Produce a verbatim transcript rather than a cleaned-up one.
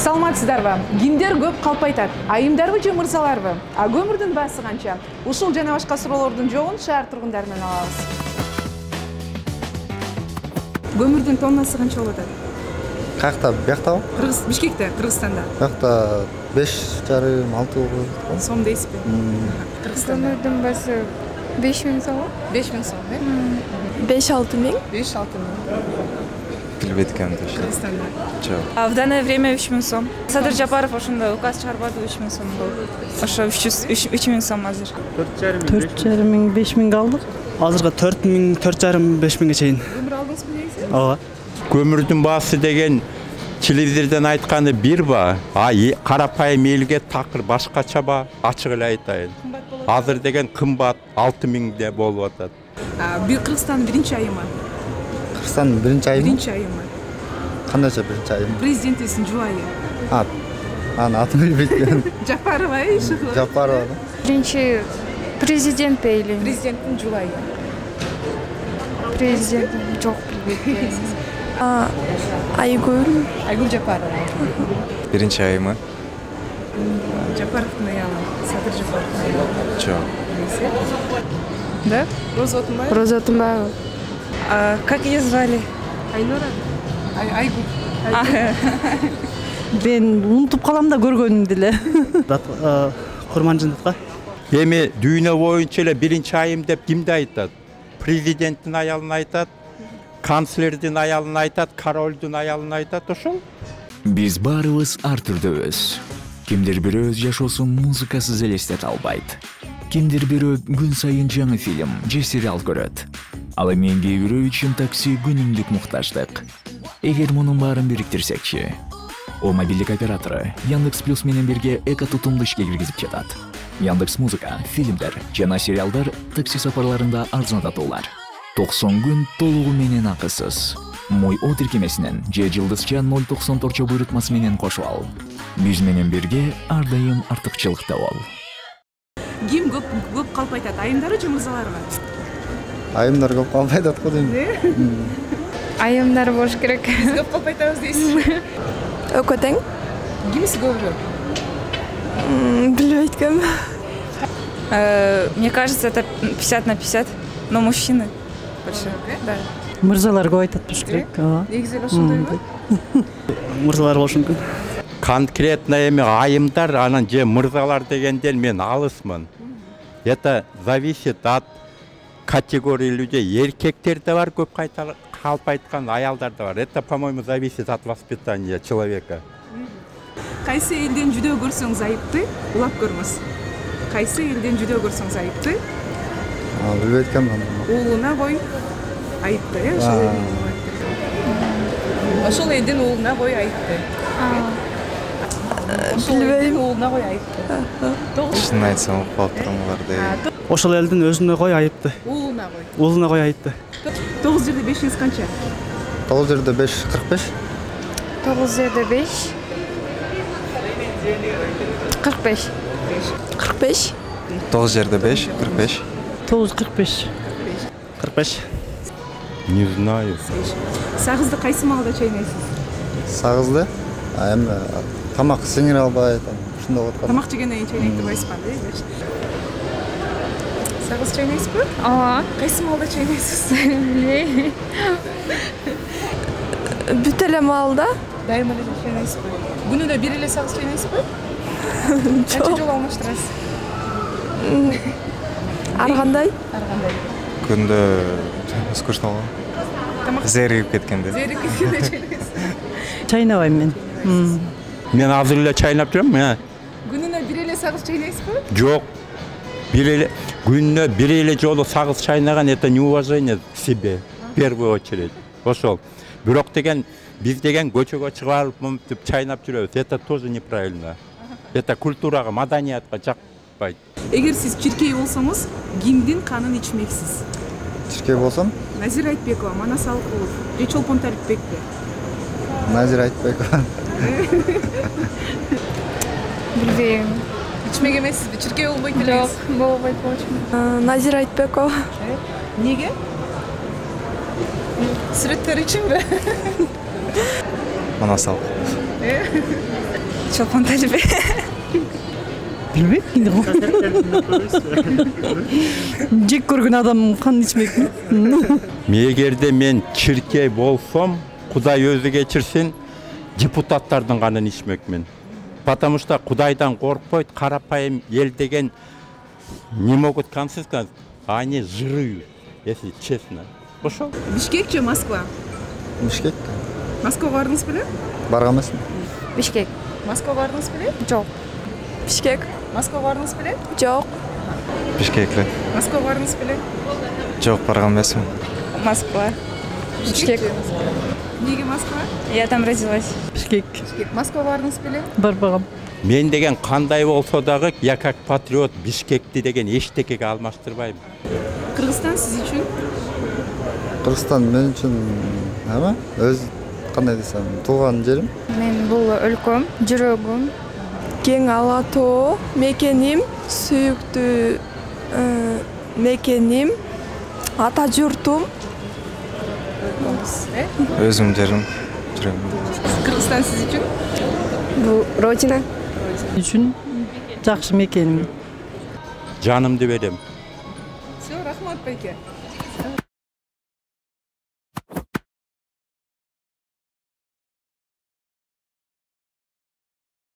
Саламатсыздарбы? Кимдер көп калп айтат? Айымдарбы же мырзаларбы? А көмүрдүн баасы канча? Ушул жана башка суроолордун жообун шаар тургундарынан алабыз. Көмүрдүн тоннасы канча болот атат? Каякта, бияктабы? Кыргыз, Бишкекте, Кыргызстанда. Бияқта беш жарым алты болот. Сом дейсизби? Кыргызстанда. Көмүрдүн баасы беш миң сом. беш миң сом, э? беш алты миң. беш алты миң. Билбейт экенмин точно. Кыргызстанда. Жок. А в данное время үч миң сом. Садыр Жапаров ошондо указ чыгарбады, үч миң сом болду. Ошо үч миң сом азыр. төрт жарым миң, беш миңге алдык. Азырга төрт миң, төрт жарым, беш миңге чейин. Көмүр алдыңызбы негизи? Ооба. Көмүрдүн баасы деген телевизордон айтканы бир ба, а карапайым элге такыр башкача ба, ачык эле айтайын. Азыр деген кымбат алты миңде болуп атат. Бир Кыргызстандын биринчи айымы. Кыргызстандын биринчи айымы? Биринчи айымы. Кандайча биринчи айымы? Президентибиздин жубайы. А, анын атын билбейт. Жапарова, э, Шыхова. Жапарова. Биринчи президент дейли. Президенттин жубайы. Президент жок билбейт. А, Айгүл. Айгүл Жапарова. Биринчи айымы? Жапаровдун аялы. Садыр Жапаровдун аялы. Жок. Да? Роза Отунбаева? Роза Отунбаева. А как ее звали? Айнура. Айгүл. Мен унутуп калам да көргөнүмдү эле. Курманжындатка. Эми дүйнө боюнча эле биринчи айым деп кимди айтат? Президенттин аялын айтат, канцлердин аялын айтат, королдун аялын айтат, ошол. Биз баарыбыз ар түрдөбүз. Кимдир бирөө өз жашоосун музыкасыз элестете албайт. Кимдир бирөө күн сайын жаңы фильм же сериал көрөт. Ал эми кээ бирөө үчүн такси күнүмдүк муктаждык. Эгер мунун баарын бириктирсекчи, о мобилдик оператору Яндекс Плюс менен бирге эко тутумду ишке киргизип жатат. Яндекс Музыка, фильмдер жана сериалдар такси сапарларында арзандатуулар. токсон күн толугу менен акысыз. Мой о тиркемесинен же жылдызча ноль токсон торчо буйрутмасы менен кошуп ал. Биз менен бирге ар дайым артыкчылыкта бол. Ким көп көп калп айтат? Айымдары же мырзаларбы? Айымдар көп калп айтат го дейм. Айымдар болуш керек. Биз көп калп айтабыз дейсизби? Экөө тең. Кимиси көбүрөөк? Билбейт ким. Мне кажется, это пятьдесят на пятьдесят, но мужчины больше. Да. Мырзалар көп айтат болуш керек. Ооба. Негизи эле ошондойбу? Мырзалар болушу мүмкүн. Конкретно эми айымдар анан же мырзалар дегенден мен алысмын. Это зависит от категории людей. Эркектер да бар көп калп айткан, аялдар да бар. Это, по-моему, зависит от воспитания человека. Кайсы элден жүдөө көрсөңүз айыпты, улап көрмөс. Кайсы элден жүдөө көрсөңүз айыпты, Билбейт экенмин. уулуна кой айыпты, э? Ошол элден. Ошол элдин уулуна кой айыпты. Ошол элдин уулуна кой айыпты. Чынын айтсам угуп калып турам буларды. Ошол элдин өзүнө кой айыпты. Уулуна кой. Уулуна кой айыпты. тогуз жерде бешиңиз канча? тогуз жерде беш, кырк беш. тогуз жерде беш. кырк беш. кырк беш. тогуз жерде беш, кырк беш. тогуз кырк беш. кырк беш. Не знаю. Сагызды кайсы маалда чайнайсыз? Сагызды? Эми тамак сиңире албайт, ушундай болуп калат. Тамак жегенден кийин чайнайт деп айтышпады, э? Сагыз чайнайсызбы? Ооба. Кайсы маалда чайнайсыз? Билбейм. Бүт эле маалда? Дайыма эле чайнайсызбы? Күнүнө бир эле сагыз чайнайсызбы? Канча жолу алмаштырасыз? Ар кандай? Ар кандай? Күндө скучно болот. Тамак Зерип кеткенде. зерип кеткенде чайнайсыз. Чайнабайм мен. Мен азыр эле чайнап турам, э? Күнүнө бир эле сагыз чайнайсызбы? Жок. Бир эле күнүнө бир эле жолу сагыз чайнаган это неуважение к себе, в первую очередь. Ошол. Бирок деген биз деген көчөгө чыгып алып мынтип чайнап жүрөбүз. Это тоже неправильно. Это культурага, маданиятка жакпайт. Эгер сиз чиркей болсоңуз, кимдин канын ичмексиз? Чиркей болсом, Назира Айтбекова, Манас Алкулов, же Чолпон Талипбекпи? Назира Айтбекова. Билбейм. Ичмек эмессизби? Чиркей болбойт элеңиз? Жок, болбойт болчу. Назира Айтбекова. Неге? Сүрөттөр үчүнбү? Манас Алкулов. Чолпон Талибе. Билбейм кимди го. Жек көргөн адам кан ичмекми? Эгерде мен чиркей болсом, Кудай өзү кечирсин, депутаттардын канын ичмекмин. Потому что Кудайдан коркпойт, карапайым эл деген не могут консискать, они жируют, если честно. Ошол. Бишкек же Москва? Бишкек. Москвага бардыңыз беле? Барган эмесмин. Бишкек. Москвага бардыңыз беле? Жок. Бишкек. Москвага бардыңыз беле? Жок. Бишкекле. Москвага бардыңыз беле? Жок, барган эмесмин. Москва. Бишкек. Неге Москва? Я там родилась. Бишкек. Бишкек. Москвага бардыңыз беле? Барбагам. Мен деген кандай болсо дагы, я как патриот Бишкекти деген эчтекеге алмаштырбайм. Кыргызстан сиз үчүн? Кыргызстан мен үчүн эме? Өз кандай десем, тууган жерим. Мен бул өлкөм, жүрөгүм, кең ала тоо, мекеним, сүйүктүү мекеним, ата журтум. Өзүм жерим, жүрөгүм. Кыргызстан сиз үчүн? Бул родина. Үчүн жакшы мекеним. Жанымды берем. Все, рахмат байке.